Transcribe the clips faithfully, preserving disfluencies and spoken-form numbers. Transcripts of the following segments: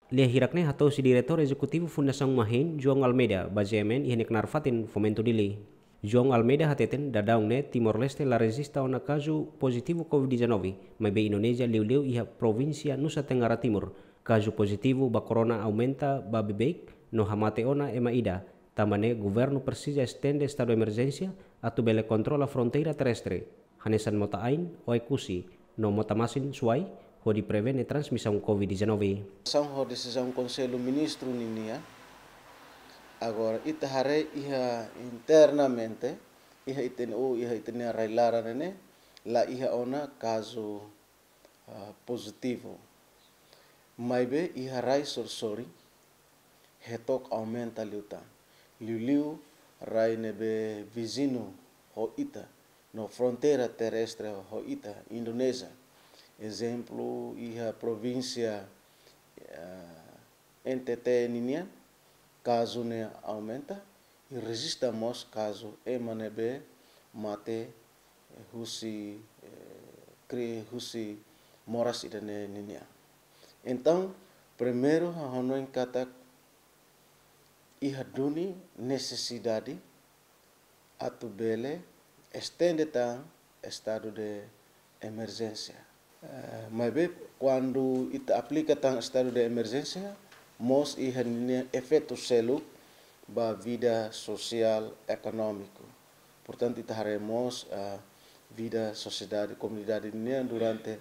Lia hirak ne'e hato'o husi Diretór Ezekutivu Fundasaun Mahin, João Almeida, ba GMN iha nia knaar fatin Fomento Dili. João Almeida hateten, daudaun ne'e Timor-Leste la rejista ona kazu pozitivu COVID-19, maibé Indonézia liuliu iha provínsia Nusa Tenggara Timur, kazu pozitivu ba corona aumenta ba beibeik no hamate ona ema ida, tanba ne'e governu presiza estende estadu emerjénsia atu bele kontrola fronteira terrestre, hanesan mota-ain, Oekusi, no mota-masin Suai, hodi prevene transmisaun COVID-19. São ho desizaun Konsellu Ministru ninian, agora ita haree iha internamente, iha ita-nia, iha ita-nia rai-laran ne'e, la iha ona kazu, ah, pozitivu. Maibé iha rai sorin-sorin, hetok aumenta liután. Liuliu rai ne'ebé viziñu ho ita, no fronteira terrestre ho ita, Indonézia. Ezemplu, iha provínsia, eh, N T T ninian, kazu ne'e aumenta, i rejista mós kazu ema ne'ebé mate, eh, husi, eh, kri-, husi moras ida-ne'e ninian. Entaun, primeiru, ha'u hanoin katak iha duni nesesidade atu bele estende tan estadu de emerjénsia. Eh, maibé, kuandu ita aplika tan estadu de emerjénsia, mós iha ninia efeitu seluk ba vida sosiál ekonómiku. Portantu, ita haree mós, eh, vida sosiedade, komunidade nian durante,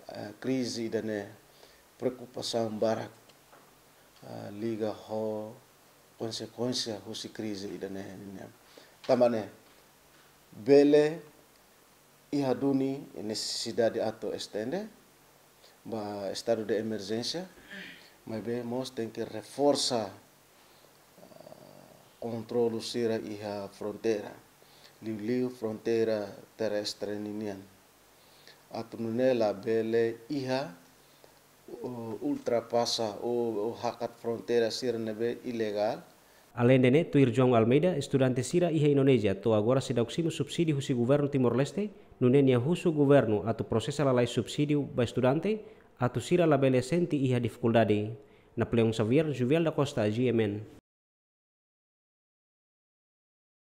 eh, krize ida-ne'e, preokupasaun barak, eh, liga ho konsekuénsia husi krize ida-ne'e nian. Tanba ne'e, bele iha duni nesesidade atu estende ba estadu de emerjénsia, maibé mós tenke reforsa, ah, kontrolu sira iha fronteira, liuliu fronteira terrestre ninian. Atu nune'e labele iha, o, ultrapasa, o, o hakat fronteira sira ne'ebé ilegál. Aleinde ne'e, tuir João Almeida, estudante sira iha Indonézia to'o agora seidauk simu subsídiu husi governu Timor-Leste, nune'e nia husu governu atu prosesa lalais subsídiu ba estudante, atu sira labele sente iha difikuldade. Napoleão Xavier, Juviel da Costa, GMN.